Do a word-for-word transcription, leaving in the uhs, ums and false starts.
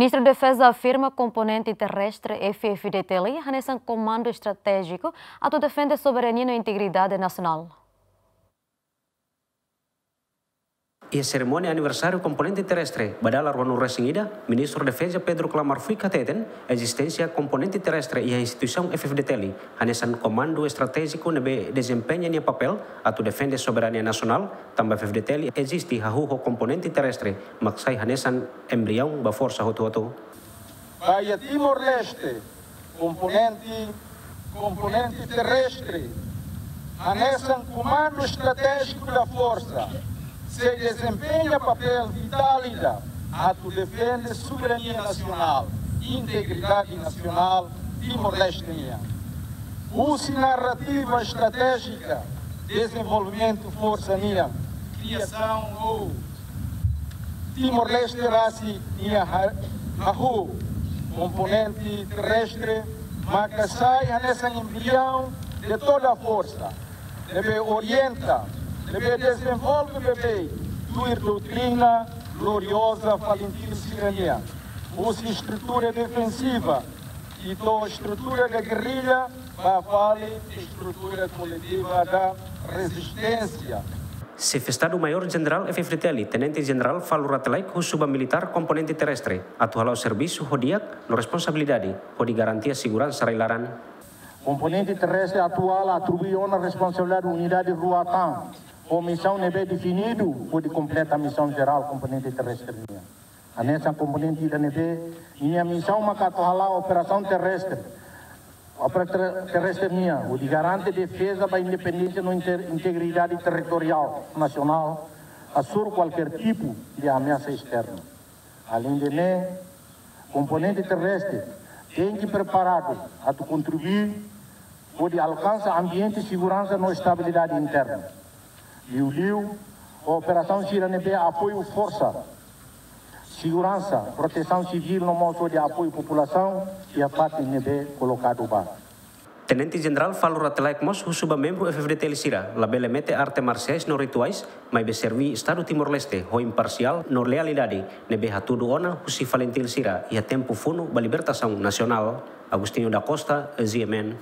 Ministru Defeza afirma komponente terrestre F-FDTL hanesan komandu estratéjiku atu defende soberania no integridade nasionál. Iha serimónia aniversáriu komponente terrestre ba dala ruanulu-resin-ida, Ministru Defeza Pedro Klamar Fuik hateten, ezisténsia komponente terrestre iha instituisaun F-FDTL hanesan komandu estratéjiku ne'ebé dezempeña nia papél atu defende soberania nasionál, tanba F-FDTL eziste hahú ho komponente terrestre, mak sai hanesan embriaun ba forsa hotu-hotu. Ba iha Timor-Leste, komponente, komponente terrestre hanesan komandu estratéjiku da forsa sei dezempeña papél vitál ida atu defende soberania nasionál, integridade nasionál Timor-Leste nian. Husi narrativa estratéjika dezenvolvimentu forsa nian, kriasaun ou Timor-Leste rasik nia ha-, hahú, komponente terrestre maka sai hanesan embriaun de toda forsa, ne'ebé orienta, ne'ebé dezenvolve beibeik tuir doutrina glorioza FALINTIL sira nian, husi estrutura defensiva to'o estrutura da gerrilla, ba fali estrutura koletiva da rezisténsia. Xefe Estadu-Maiór Jenerál F-FDTL, Tenente Jenerál Falur Rate Laek, husu ba militár komponente terrestre atu hala'o servisu ho di'ak no responsabilidade hodi garantia seguransa rai-laran. Komponente terrestre atuál atribui ona responsabilidade unidade rua tan, ho misaun ne'ebé definidu hodi kompleta misaun jerál komponente terrestre nian. Hanesan komponente ida ne'ebé nia misaun maka atu hala'o operasaun terrestre, operasaun terrestre nian, hodi garante defeza ba independénsia no inter-, integridade territoriál nasionál, hasoru kualkér tipu de ameasa esterna. Aleinde ne'e, komponente terrestre tenke preparadu atu kontribui hodi alkansa ambiente seguransa no estabilidade interna. Liuliu, operasaun sira ne'ebé apoiu forsa seguransa, protesaun sivíl no mós hodi apoiu populasaun iha fatin ne'ebé kolokadu ba. Tenente Jenerál Falur Rate Laek mós husu ba membru F-FDTL sira labele mete arte marsiais no rituais, maibé serví Estadu Timor-Leste ho imparsiál no lealidade, ne'ebé hatudu ona husi FALINTIL sira iha tempu funu ba libertasaun nasionál. Agostinho da Costa, G M N.